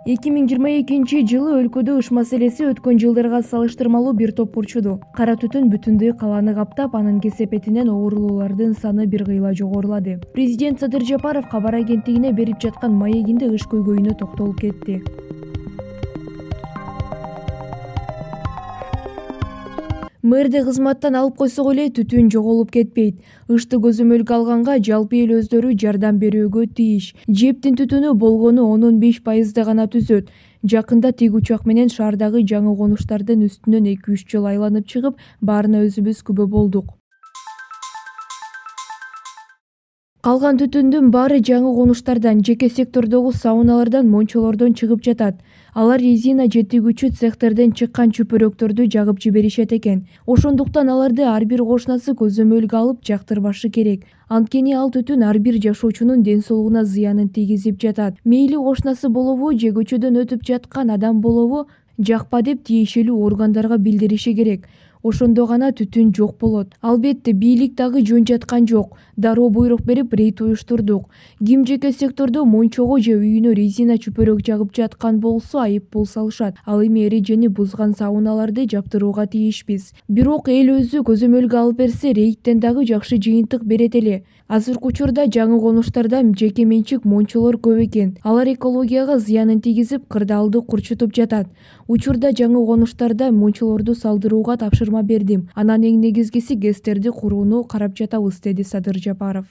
2022-жылы өлкөдө ыш маселеси өткөн жылдарга салыштырмалуу бир топ урчуду. Кара түтүн бүтүндөй калааны каптап, анын кесепетинен оорулуулардын саны бир кыйла жогорулады. Президент Садыр Жапаров кабар агенттигине берип жаткан маегинде ыш көйгөйүнө токтолуп кетти. Мэрди кызматтан алып койсок эле түтүн жоголуп кетпейт. Ышты көзөмөлгө алганга жалпы эл өздөрү жардам берүүгө тийиш. Жептин түтүнү болгону 10-15% гана түзөт. Жакында тик учак менен шаардагы жаңы конуштардын үстүнөн 2-3 жолу айланып чыгып, баарына өзүбүз күбө болдук. Калган түтүндүн баары жаңы конуштардан, жеке сектордогу сауналардан, мончолордон чыгып жатат. Алар резина жеткирүүчү цехтерден чыккан чөпөрөктөрдү жагып жиберишет экен. Ошондуктан аларды ар бир кошунасы көзөмөлгө алып жактырбашы керек. Анткени ал түтүн ар бир жашоочунун ден соолугуна зыянын тийгизип жатат. Мейли кошунасы болобу же көчөдөн өтүп жаткан адам болобу, жакпа деп тиешелүү органдарга билдириши керек. Ошондо гана түтүн жок болот. Албетте, бийлик дагы жөн жаткан жок. Дароо буйрук берип рейд уюштурдук. Ким жеке сектордо мончого же үйүнө резина чөпөрөк жагып жаткан болсо айып пул салышат. Ал эми эрежени бузган сауналарды жаптырууга тийишпиз. Бирок эл өзү көзөмөлгө алып берсе, рейдтен дагы жакшы жыйынтык берет эле. Азыркы учурда жаңы конуштарда жеке менчик мончолор көп экен. Алар экологияга зыянын тийгизип, кырдаалды курчутуп жатат. Учурда жаңы конуштарда мончолорду салдырууга тапшырма бердим. Анан эң негизгиси ГЭСтерди курууну карап жатабыз, деди Садыр Жапаров.